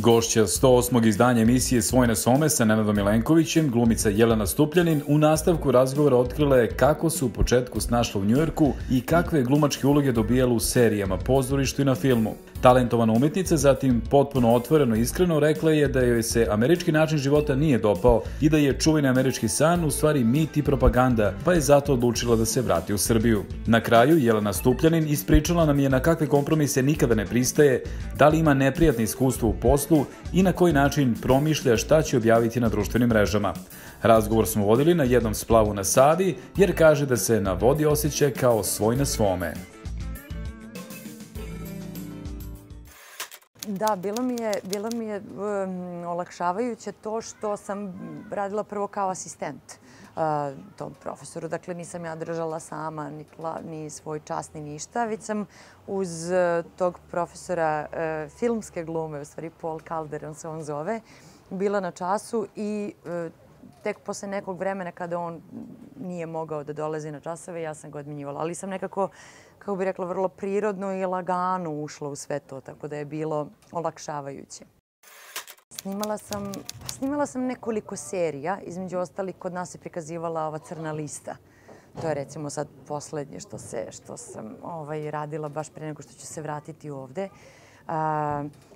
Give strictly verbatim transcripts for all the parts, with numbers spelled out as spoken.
Gošća sto osmog izdanja emisije Svoj na svome sa Nenadom Milenkovićem, glumica Jelena Stupljanin, u nastavku razgovora otkrila je kako se u početku snašla u Njujorku i kakve je glumačke uloge dobijala u serijama, pozorištu i na filmu. Talentovana umetnica zatim potpuno otvoreno i iskreno rekla je da joj se američki način života nije dopao i da je čuveni američki san u stvari mit i propaganda, pa je zato odlučila da se vrati u Srbiju. Na kraju Jelena Stupljanin ispričala nam je na kakve kompromise nikada ne pristaje, da li ima neprijatne iskustvo u poslu i na koji način promišlja šta će objaviti na društvenim mrežama. Razgovor smo vodili na jednom splavu na Savi, jer kaže da se na vodi osjeća kao svoj na svome. Da, bilo mi je, bilo mi je um, olakšavajuće to što sam radila prvo kao asistent uh, tom profesoru. Dakle, nisam ja držala sama ni, ni svoj čas ni ništa, već sam uz uh, tog profesora uh, filmske glume, u stvari Paul Calder, on se on zove, bila na času i uh, tek posle nekog vremena kada on nije mogao da dolazi na časove, ja sam ga odmenjivala. Ali sam nekako, kako bih rekla, vrlo prirodno i lagano ušla u sve to, tako da je bilo olakšavajuće. Snimala sam, snimala sam nekoliko serija, između ostalih kod nas se prikazivala ova Crna lista. To je recimo sad poslednje što, se, što sam ovaj, radila baš pre nego što ću se vratiti ovde. Uh,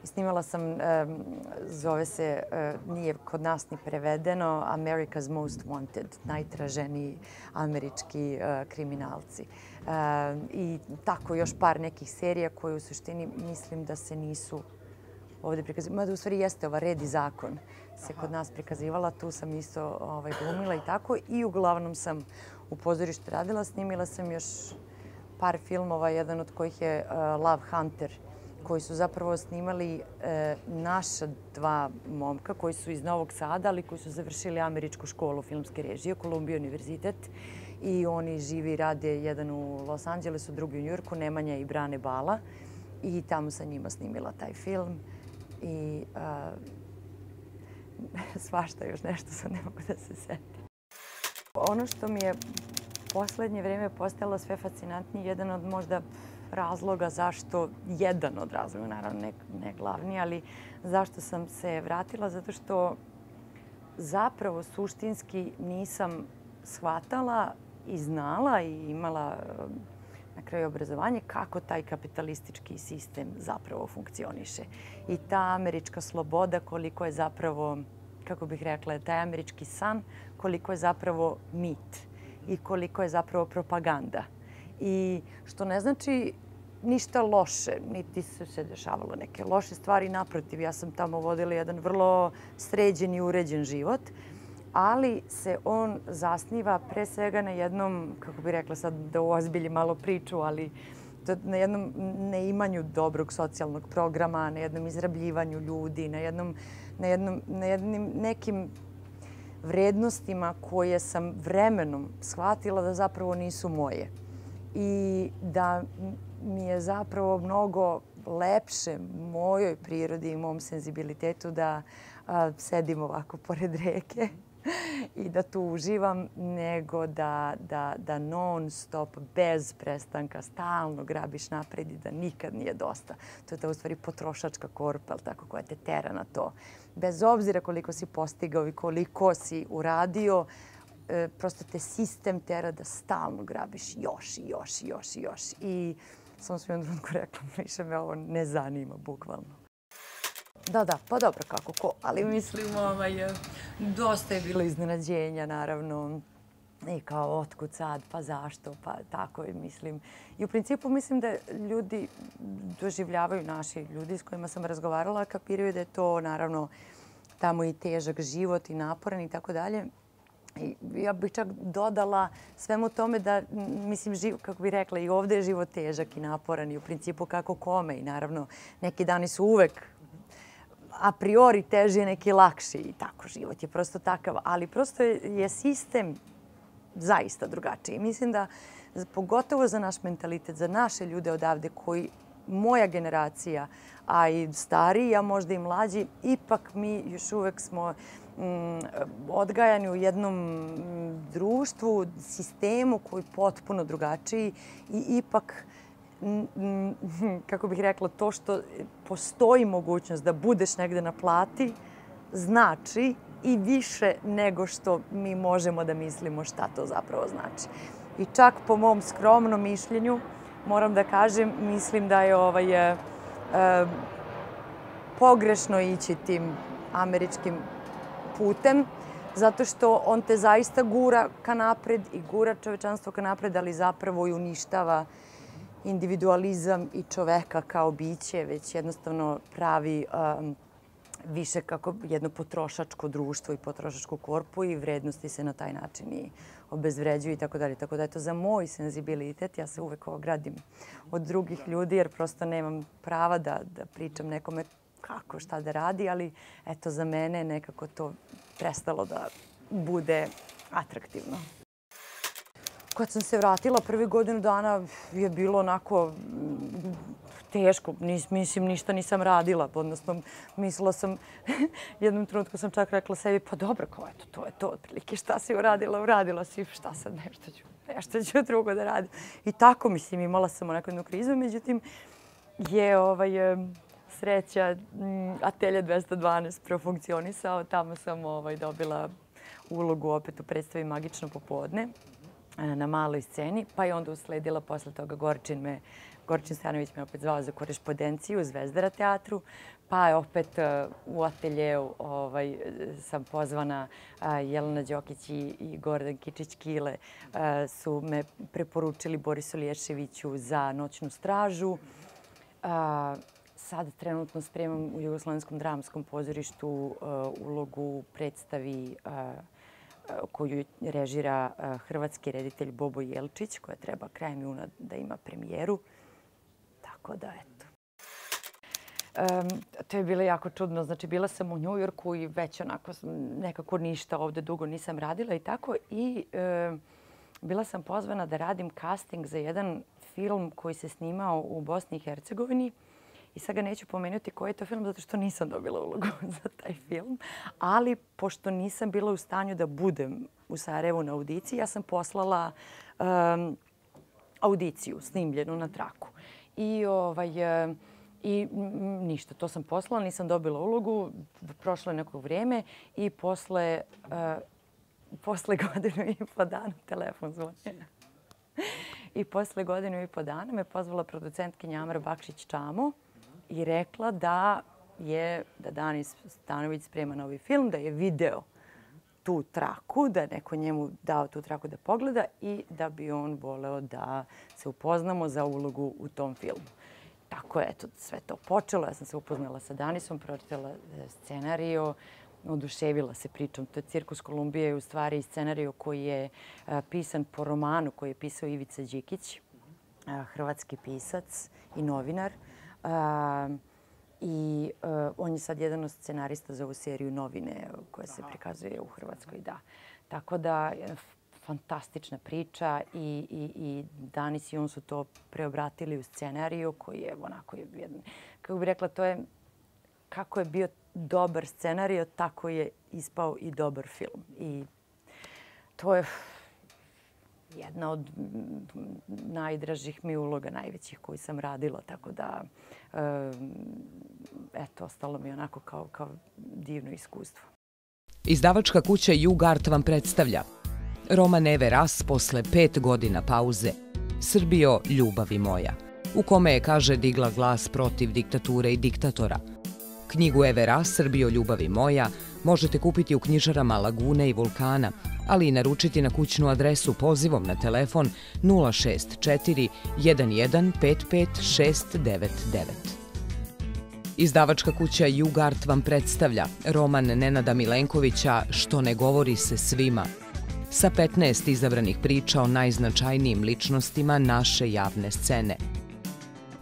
snimala sam, um, zove se, uh, nije kod nas ni prevedeno, America's Most Wanted, najtraženiji američki uh, kriminalci. Uh, I tako još par nekih serija koje u suštini mislim da se nisu ovdje prikazivala. Mada u stvari jeste ova Red i zakon se kod nas prikazivala, tu sam isto ovaj, glumila i tako. I uglavnom sam u pozorištu radila, snimila sam još par filmova, jedan od kojih je uh, Love Hunter, koji su zapravo snimali e, naša dva momka koji su iz Novog Sada, ali koji su završili američku školu filmske režije, Columbia univerzitet. I oni živi i rade, jedan u Los Angelesu, drugi u Njujorku, Nemanja i Brane Bala. I tamo sam njima snimila taj film. I a, svašta još nešto, sad ne mogu da se setim. Ono što mi je poslednje vreme postalo sve fascinantnije, jedan od možda razloga zašto, jedan od razloga, naravno ne, ne glavni, ali zašto sam se vratila, zato što zapravo suštinski nisam shvatala i znala i imala na kraju obrazovanje kako taj kapitalistički sistem zapravo funkcioniše. I ta američka sloboda, koliko je zapravo, kako bih rekla, taj američki san, koliko je zapravo mit i koliko je zapravo propaganda. I što ne znači ništa loše, niti su se dešavalo neke loše stvari. Naprotiv, ja sam tamo vodila jedan vrlo sređen i uređen život, ali se on zasniva pre svega na jednom, kako bih rekla sad da uozbiljim malo priču, ali na jednom neimanju dobrog socijalnog programa, na jednom izrabljivanju ljudi, na jednom, na jednom, na jednim nekim vrednostima koje sam vremenom shvatila da zapravo nisu moje. I da mi je zapravo mnogo lepše mojoj prirodi i mom senzibilitetu da a, sedim ovako pored reke i da tu uživam, nego da, da, da non stop, bez prestanka, stalno grabiš napred i da nikad nije dosta. To je ta u stvari potrošačka korpa, tako, koja te tera na to. Bez obzira koliko si postigao i koliko si uradio, prosto te sistem tera da stalno grabiš još i još i još i još. I sam sam jednom trenutku rekla, više me ovo ne zanima, bukvalno. Da, da, pa dobro, kako ko, ali mislim, ovaj, dosta je bilo iznenađenja, naravno. I kao, otkud sad, pa zašto, pa tako je, mislim. I u principu mislim da ljudi doživljavaju, naši ljudi s kojima sam razgovarala, kapiraju da je to, naravno, tamo i težak život i naporan i tako dalje. I ja bih čak dodala svemu tome da, mislim, živ, kako bih rekla, i ovdje je život težak i naporan i u principu kako kome. I naravno, neki dani su uvek a priori teži, neki lakši i tako, život je prosto takav. Ali prosto je sistem zaista drugačiji. Mislim da, pogotovo za naš mentalitet, za naše ljude odavde koji, moja generacija, a i stariji, a možda i mlađi, ipak mi još uvek smo odgajani u jednom društvu, sistemu koji je potpuno drugačiji i ipak kako bih rekla, to što postoji mogućnost da budeš negde na plati, znači i više nego što mi možemo da mislimo šta to zapravo znači. I čak po mom skromnom mišljenju, moram da kažem, mislim da je ovaj, e, pogrešno ići tim američkim putem, zato što on te zaista gura ka napred i gura čovečanstvo ka napred, ali zapravo i uništava individualizam i čoveka kao biće, već jednostavno pravi um, više kako jedno potrošačko društvo i potrošačku korpu i vrednosti se na taj način i obezvređuju i tako dalje. Tako da je to za moj senzibilitet. Ja se uvek ogradim od drugih ljudi jer prosto nemam prava da, da pričam nekome kako, šta da radi, ali eto za mene nekako to prestalo da bude atraktivno. Kad sam se vratila prvi godinu dana je bilo onako teško. Nis, mislim, ništa nisam radila. Odnosno, mislila sam, jednom trenutku sam čak rekla sebi, pa dobro, kao eto, to je to otprilike. Šta si uradila? Uradila si, šta sad, nešto ću, nešto ću drugo da radim. I tako, mislim, imala sam onako jednu krizu. Međutim, je ovaj, sreća Atelje dvesta dvanaest profunkcionisao. Tamo sam ovaj, dobila ulogu opet u predstavi Magično popodne na maloj sceni, pa je onda usledila posle toga Gorčin me, Gorčin Stanović me opet zvao za korespondenciju u Zvezdara teatru, pa je opet u ateljeu ovaj, sam pozvana, Jelena Đokić i Gordan Kičić-Kile su me preporučili Borisu Lješeviću za Noćnu stražu. Sad trenutno spremam u Jugoslovenskom dramskom pozorištu ulogu u predstavi koju režira hrvatski reditelj Bobo Jelčić, koja treba krajem juna da ima premijeru. Tako da, eto. Um, to je bilo jako čudno. Znači, bila sam u Njujorku i već onako nekako ništa ovde dugo nisam radila i tako. I um, bila sam pozvana da radim casting za jedan film koji se snimao u Bosni i Hercegovini. I sad ga neću pomenuti koji je to film, zato što nisam dobila ulogu za taj film. Ali, pošto nisam bila u stanju da budem u Sarajevu na audiciji, ja sam poslala um, audiciju snimljenu na traku. I, ovaj, i ništa, to sam poslala, nisam dobila ulogu. Prošlo je neko vrijeme i posle, uh, posle godinu i po dana telefon zvoni. I posle godinu i po dana me pozvala producentkinja Amra Bakšić-Čamo i rekla da je da Danis Stanović sprema novi film, da je video tu traku, da je neko njemu dao tu traku da pogleda i da bi on voleo da se upoznamo za ulogu u tom filmu. Tako je eto, sve to počelo. Ja sam se upoznala sa Danisom, pročitala scenario, oduševila se pričom. To je Cirkus Kolumbije, u stvari scenario koji je pisan po romanu koji je pisao Ivica Đikić, hrvatski pisac i novinar. I on je sad jedan od scenarista za ovu seriju Novine koja se prikazuje u Hrvatskoj. Da. Tako da, fantastična priča i, i, i Danis i on su to preobratili u scenariju koji je onako, jedan, kako bih rekla, to je kako je bio dobar scenario, tako je ispao i dobar film. I to je jedna od najdražih mi uloga, najvećih koju sam radila. Tako da, eto, ostalo mi onako kao, kao divno iskustvo. Izdavačka kuća Jugart vam predstavlja roman Eve Ras posle pet godina pauze, Srbijo, ljubavi moja, u kome je, kaže, digla glas protiv diktature i diktatora. Knjigu Eve Ras, Srbijo, ljubavi moja, možete kupiti u knjižarama Lagune i Vulkana, ali i naručiti na kućnu adresu pozivom na telefon nula šest četiri jedan jedan pet pet šest devet devet. Izdavačka kuća Jugart vam predstavlja roman Nenada Milenkovića Što ne govori se svima, sa petnaest izabranih priča o najznačajnijim ličnostima naše javne scene.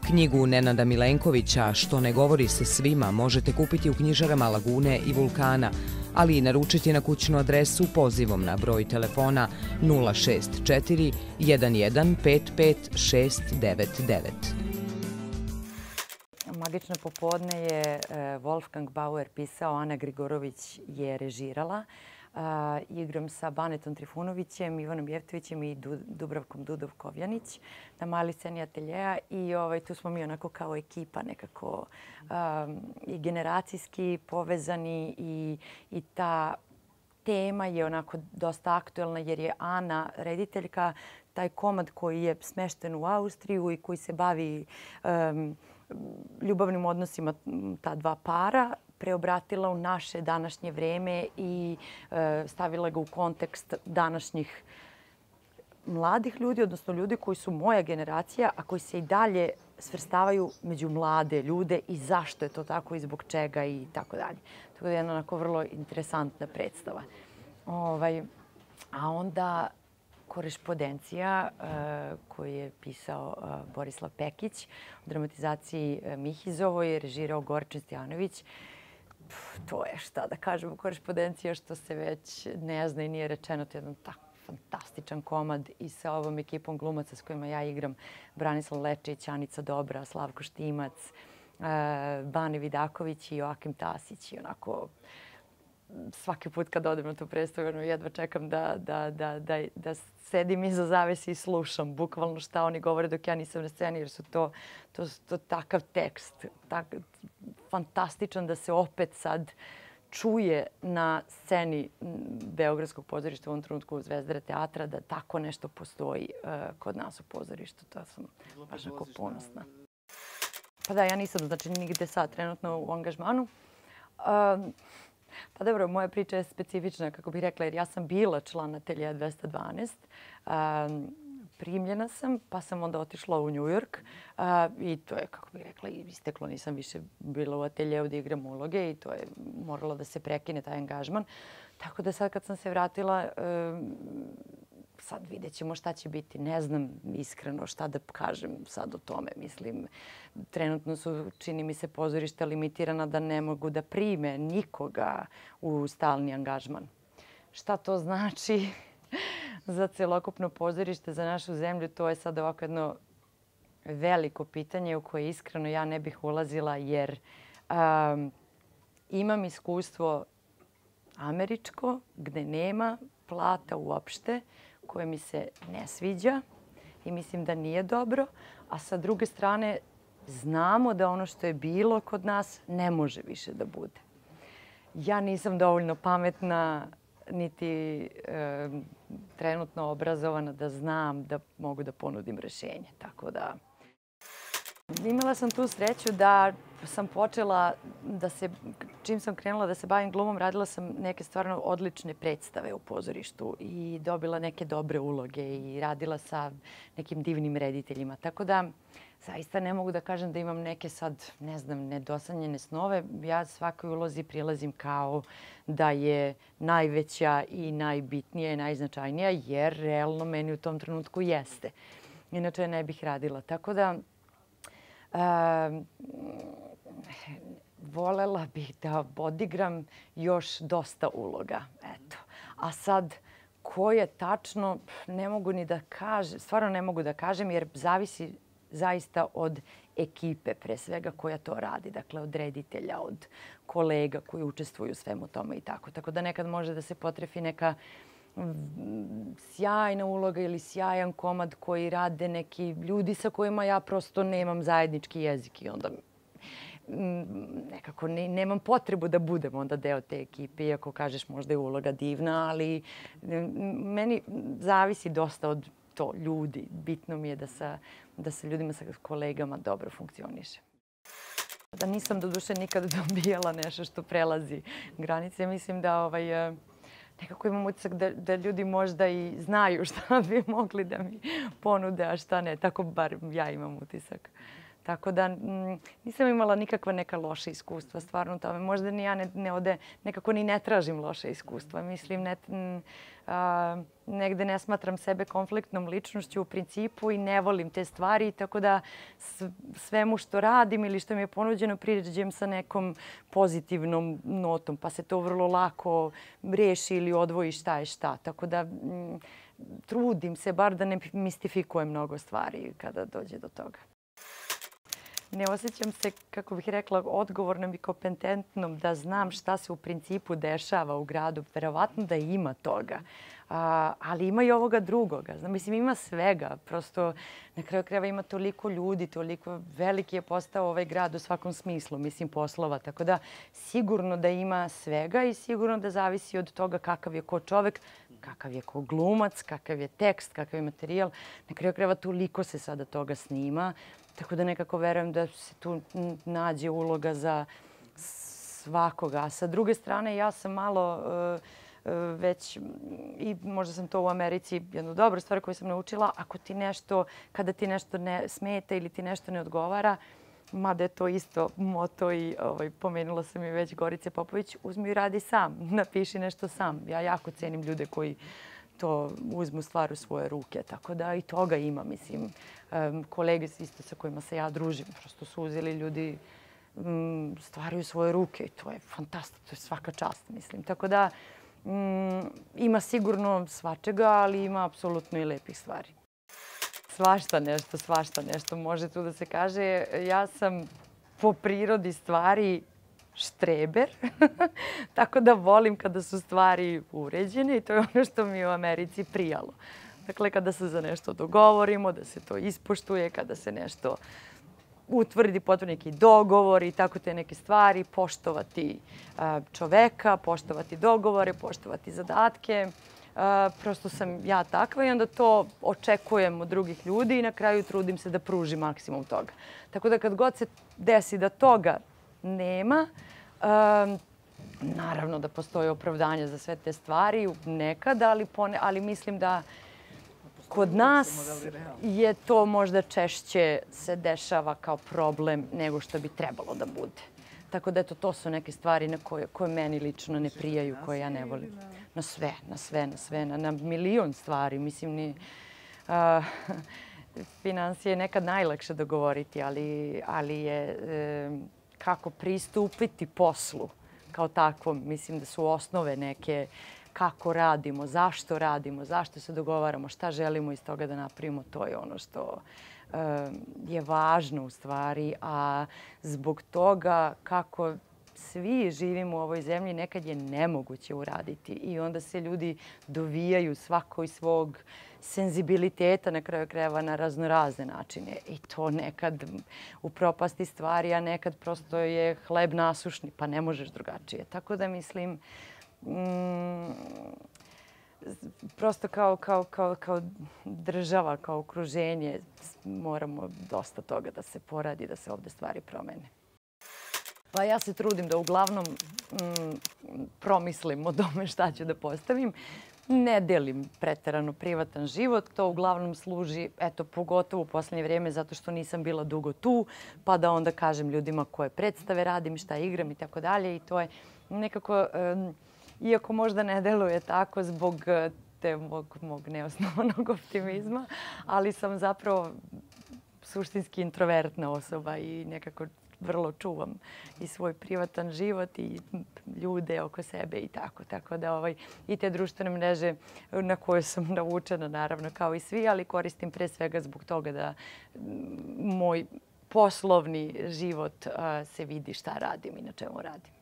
Knjigu Nenada Milenkovića Što ne govori se svima možete kupiti u knjižarama Lagune i Vulkana, ali i naručiti na kućnu adresu pozivom na broj telefona nula šest četiri jedan jedan pet pet šest devet devet. Magično popodne je Wolfgang Bauer pisao, Ana Grigorović je režirala. igram sa Banetom Trifunovićem, Ivanom Jevtovićem i Dubravkom Dudovkovjanić na maloj sceni ateljeja i tu smo mi onako kao ekipa nekako i generacijski povezani i ta tema je onako dosta aktuelna jer je Ana, rediteljka, taj komad koji je smešten u Austriju i koji se bavi ljubavnim odnosima ta dva para, preobratila u naše današnje vreme i stavila ga u kontekst današnjih mladih ljudi, odnosno ljudi koji su moja generacija, a koji se i dalje svrstavaju među mlade ljude i zašto je to tako i zbog čega i tako dalje. To je jedna onako vrlo interesantna predstava. A onda Korespondencija koju je pisao Borislav Pekić u dramatizaciji Mihizovoj, režirao Gorčin Stojanović. To je, šta da kažemo, Korespondencija što se već ne zna i nije rečeno. To je jedan tako fantastičan komad i sa ovom ekipom glumaca s kojima ja igram. Branislav Lečić, Anica Dobra, Slavko Štimac, Bane Vidaković i Joakim Tasić. I onako, svaki put kad odem na tu predstavu, jedva čekam da, da, da, da, da sedim iza zavese i slušam bukvalno šta oni govore dok ja nisam na sceni, jer su to, to, to takav tekst, tak, fantastičan da se opet sad čuje na sceni Beogradskog pozorišta u ovom trenutku Zvezdara teatra da tako nešto postoji uh, kod nas u pozorištu. To sam baš jako ponosna. Pa da, ja nisam znači nigde sad trenutno u angažmanu. Um, Pa dobro, moja priča je specifična, kako bih rekla, jer ja sam bila član ateljeja dvesta dvanaest. Um, primljena sam, pa sam onda otišla u New York uh, i to je, kako bih rekla, isteklo. Nisam više bila u ateljeju da igram uloge i to je moralo da se prekine taj angažman. Tako da sad kad sam se vratila, um, sad vidjet ćemo šta će biti. Ne znam iskreno šta da kažem sad o tome. Mislim, trenutno su, čini mi se, pozorišta limitirana da ne mogu da prime nikoga u stalni angažman. Šta to znači za celokupno pozorište, za našu zemlju? To je sad ovako jedno veliko pitanje u koje iskreno ja ne bih ulazila jer um, imam iskustvo američko gde nema plata uopšte, koje mi se ne sviđa i mislim da nije dobro. A sa druge strane, znamo da ono što je bilo kod nas ne može više da bude. Ja nisam dovoljno pametna niti e, trenutno obrazovana da znam da mogu da ponudim rešenje. Tako da imala sam tu sreću da sam počela da se, čim sam krenula da se bavim glumom, radila sam neke stvarno odlične predstave u pozorištu i dobila neke dobre uloge i radila sa nekim divnim rediteljima. Tako da zaista ne mogu da kažem da imam neke sad, ne znam, nedosanjene snove. Ja svakoj ulozi prilazim kao da je najveća i najbitnija i najznačajnija jer realno meni u tom trenutku jeste. Inače ne bih radila. Tako da Uh, volela bih da odigram još dosta uloga. Eto. A sad, ko je tačno, ne mogu ni da kažem, stvarno ne mogu da kažem jer zavisi zaista od ekipe pre svega koja to radi. Dakle, od reditelja, od kolega koji učestvuju u svemu tome i tako. Tako da nekad može da se potrefi neka sjajna uloga ili sjajan komad koji rade neki ljudi sa kojima ja prosto nemam zajednički jezik i onda nekako ne, nemam potrebu da budem onda deo te ekipe, iako kažeš možda je uloga divna, ali meni zavisi dosta od to ljudi. Bitno mi je da sa, da sa ljudima, sa kolegama dobro funkcioniše. Da nisam doduše nikad dobijala nešto što prelazi granice. Mislim da ovaj, nekako imam utisak da, da ljudi možda i znaju šta bi mogli da mi ponude, a šta ne. Tako bar ja imam utisak. Tako da m, nisam imala nikakva neka loša iskustva stvarno tome. Možda ni ja ne, ne ode, nekako ni ne tražim loše iskustva. Mislim, ne, m, a, negde ne smatram sebe konfliktnom ličnošću u principu i ne volim te stvari. Tako da svemu što radim ili što mi je ponuđeno priđem sa nekom pozitivnom notom. Pa se to vrlo lako reši ili odvoji šta je šta. Tako da m, trudim se bar da ne mistifikujem mnogo stvari kada dođe do toga. ne osjećam se, kako bih rekla, odgovornom i kompetentnom da znam šta se u principu dešava u gradu. Verovatno da ima toga. A, ali ima i ovoga drugoga. Znam, mislim, ima svega. Prosto na kraju krajeva ima toliko ljudi, toliko veliki je postao ovaj grad u svakom smislu, mislim, poslova. Tako da sigurno da ima svega i sigurno da zavisi od toga kakav je ko čovek, kakav je ko glumac, kakav je tekst, kakav je materijal. Na kraju krajeva toliko se sada toga snima. Tako da nekako verujem da se tu nađe uloga za svakoga. A sa druge strane, ja sam malo uh, već, i možda sam to u Americi, jednu dobru stvar koju sam naučila, ako ti nešto, kada ti nešto ne smeta ili ti nešto ne odgovara, mada je to isto moto i ovaj, pomenula sam i već Gorice Popović, uzmi i radi sam, napiši nešto sam. Ja jako cenim ljude koji to uzmu stvar u svoje ruke. Tako da i toga ima, mislim. Um, kolege isto sa kojima se ja družim, prosto su uzeli ljudi um, stvari u svoje ruke i to je fantastično, to je svaka čast, mislim. Tako da um, ima sigurno svačega, ali ima apsolutno i lepih stvari. Svašta nešto, svašta nešto može tu da se kaže. Ja sam po prirodi stvari štreber, tako da volim kada su stvari uređene i to je ono što mi je u Americi prijalo. Dakle, kada se za nešto dogovorimo, da se to ispoštuje, kada se nešto utvrdi, potvrdi neki dogovor i tako te neke stvari, poštovati čoveka, poštovati dogovore, poštovati zadatke. Prosto sam ja takva i onda to očekujem od drugih ljudi i na kraju trudim se da pružim maksimum toga. Tako da kad god se desi da toga nema, um, naravno da postoji opravdanje za sve te stvari nekada, ali, pone, ali mislim da kod nas je to možda češće se dešava kao problem nego što bi trebalo da bude. Tako da eto, to su neke stvari na koje, koje meni lično ne prijaju, koje ja ne volim. Na sve, na sve, na sve, na, na milion stvari. Mislim, ni, uh, finansije je nekad najlakše dogovoriti, ali, ali je e, kako pristupiti poslu kao takvom. Mislim da su osnove neke kako radimo, zašto radimo, zašto se dogovaramo, šta želimo iz toga da napravimo. To je ono što je važno u stvari, a zbog toga kako svi živimo u ovoj zemlji nekad je nemoguće uraditi i onda se ljudi dovijaju svako iz svog senzibiliteta na kraju krajeva na raznorazne načine i to nekad upropasti stvari, a nekad prosto je hleb nasušni pa ne možeš drugačije. Tako da mislim mm, prosto kao, kao, kao, kao država, kao okruženje moramo dosta toga da se poradi, da se ovdje stvari promene. Pa ja se trudim da uglavnom mm, promislim o tome šta ću da postavim. Ne delim preterano privatan život. To uglavnom služi, eto, pogotovo u posljednje vrijeme, zato što nisam bila dugo tu, pa da onda kažem ljudima koje predstave radim, šta igram i tako dalje. I to je nekako, um, iako možda ne deluje tako zbog te mog, mog neosnovanog optimizma, ali sam zapravo suštinski introvertna osoba i nekako vrlo čuvam i svoj privatan život i ljude oko sebe i tako. Tako da ovaj, i te društvene mreže na koje sam navučena, naravno, kao i svi, ali koristim pre svega zbog toga da moj poslovni život a, se vidi šta radim i na čemu radim.